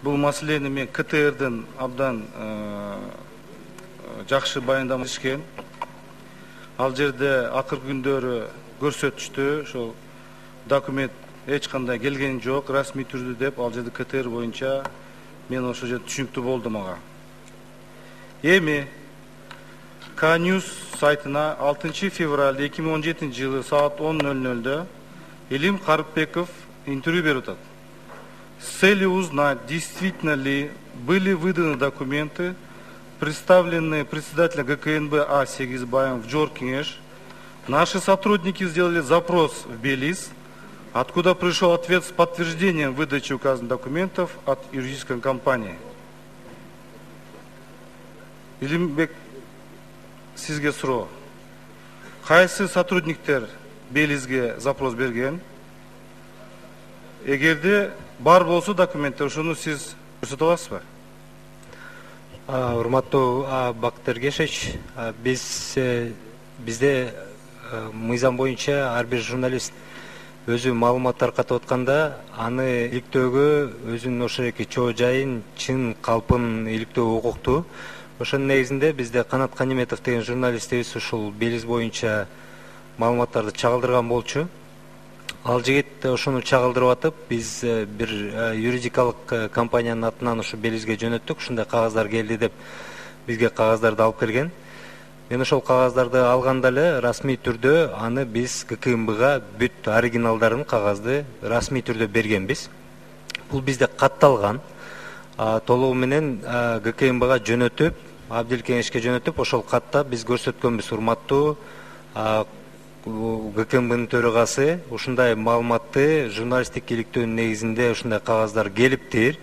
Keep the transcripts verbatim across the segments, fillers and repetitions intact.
Бул маселени мен КТРдин абдан жакшы баяндама беришкен. Ал жерде акыркы күндөрү көрсөтүштү, ошол документ эч кандай келген жок, расмий түрдө деп, ал жерде КТР боюнча мен ошол жерде түшүнүктүү болдум ага. Эми К-Ньюс сайтына алтынчы февраль эки миң он жетинчи жылы саат он ноль нольдө Илим Карыпбеков интервью берип атат. С целью узнать, действительно ли были выданы документы, представленные председателем ГКНБ А. Сегизбаевым в Джоркинеш, наши сотрудники сделали запрос в Белиз, откуда пришел ответ с подтверждением выдачи указанных документов от юридической компании. Илимбек, сизге суроо. Кайсы сотрудниктер Белизге запрос берген? Эгерде бар болсо документтер, ошону сиз көрсөтө аласызбы? Урматтуу Бакыт Эргешевич, биз бизде мыйзам боюнча ар бир журналист өзү маалымат таркатып атканда аны иликтөөгө өзүнүн ошол эки чоо жайын, чын калпын иликтөө укуктуу. Ошонун негизинде бизде Канат Каниметов деген журналистибиз ушул Белиз боюнча маалыматтарды чагылдырган болчу. Ал жигит ошону чагылдырып атып, биз бир юридикалык компаниянын атынан ушу Белизге жөнөттүк, ушундай кагаздар келди деп бизге кагаздарды алып келген. Мен ошол кагаздарды алганда эле расмий түрдө аны биз ГКНБга бүт оригиналдарын кагазды расмий түрдө бергенбиз. Бул бизде катталган. Толугу менен ГКНБга жөнөтүп, Абдил Кеңешке жөнөтүп, ошол катта биз көрсөткөнбүз. Урматтуу ГКНБнын төрагасы, ушундай маалыматты журналисттик иликтөөнүн негизинде ушундай кагаздар келиптир.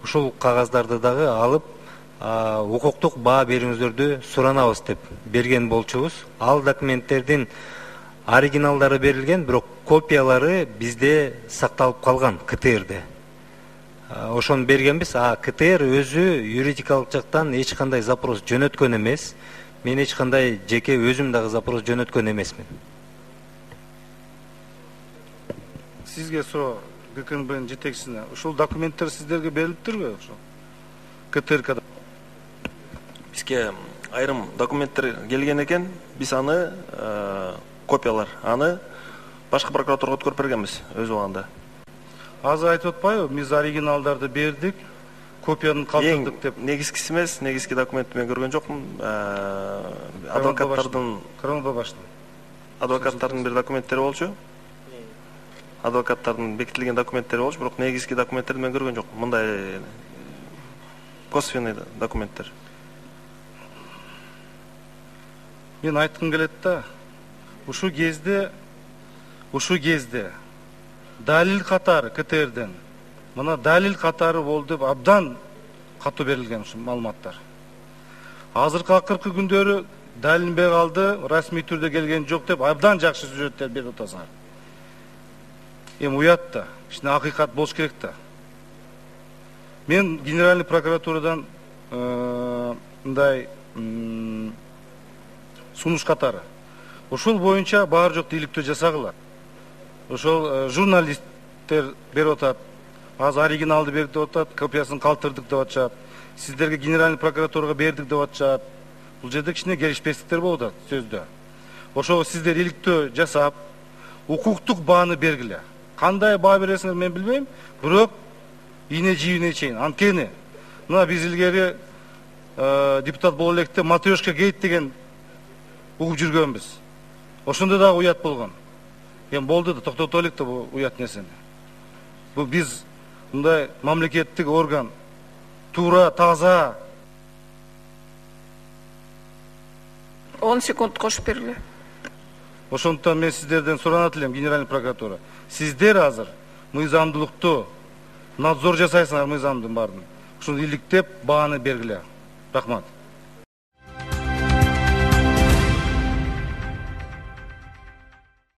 Ушул кагаздарды дагы алып укуктук баа бериңиздерди суранабыз деп берген болчубуз. Ал документтердин оригиналдары берилген, бирок копиялары бизде сакталып калган КТРде. Ошону бергенбиз. А КТР өзү юридикалык жактан эч кандай запрос жөнөткөн эмес. Мен эч кандай жеке өзүм дагы запрос жөнөткөн эмесмин. Сизге суроо, ГКНБнын жетекчисине, ушул документтер сиздерге берилиптирби ошол? КТРКда бизге айрым документтер келген экен, биз аны копиялар, аны башкы прокуратурага өткөрүп бергенбиз өз убагында. Азыр айтып атпайбы, биз оригиналдарды бердик, копияны калтырдык деп. Негизгиси эмес, негизги документти мен көргөн жокмун. Адвокаттардын адвокаттардын бир документтери болчу. Адвокаттардын бекитилген документтери болчу, бирок негизги документтерди мен көргөн жокмун. Мындай косвенный документтер. Мен айткым келет да, ушу кезде, ушу кезде далил катары КТРден, мына далил катары болду деп абдан катуу берилген ушу маалыматтар. Азыркы акыркы күндөрү далилинбей калды, расмий түрдө келген жок деп абдан жакшы сюжеттер берип атасыңар. Эми уят да, ичинде акыйкат болуш керек да. Мен генеральный прокуратурадан мындай сунуш катары. Ошол боюнча баары жокто иликтөө жасагыла. Ошол журналисттер берип атат, азыр оригиналды берип деп атат, копиясын калтырдык деп атышат. Сиздерге генеральный прокуратурага бердик деп атышат. Бул жерде кичине келишпестиктер болуп атат сөздө. Ошого сиздер иликтөө жасап, укуктук бааны бергиле. Кандай баа бересиңер мен билбейм, бирок ийне жибине чейин. Анткени мына биз илгери депутат боло электе матрешка гейт деген угуп жүргөнбүз. Ошондо дагы уят болгон. Эми болду да, токтото элек да бул уят нерсени. Бул биз мындай мамлекеттик орган туура, таза. он секунд кошуп бергиле. Ошондуктан мен сиздерден суранат элем, генеральный прокуратура. Сиздер азыр мыйзамдуулукту надзор жасайсыңар, мыйзамдын баарын. Ушуну иликтеп, бааны бергиле. Рахмат.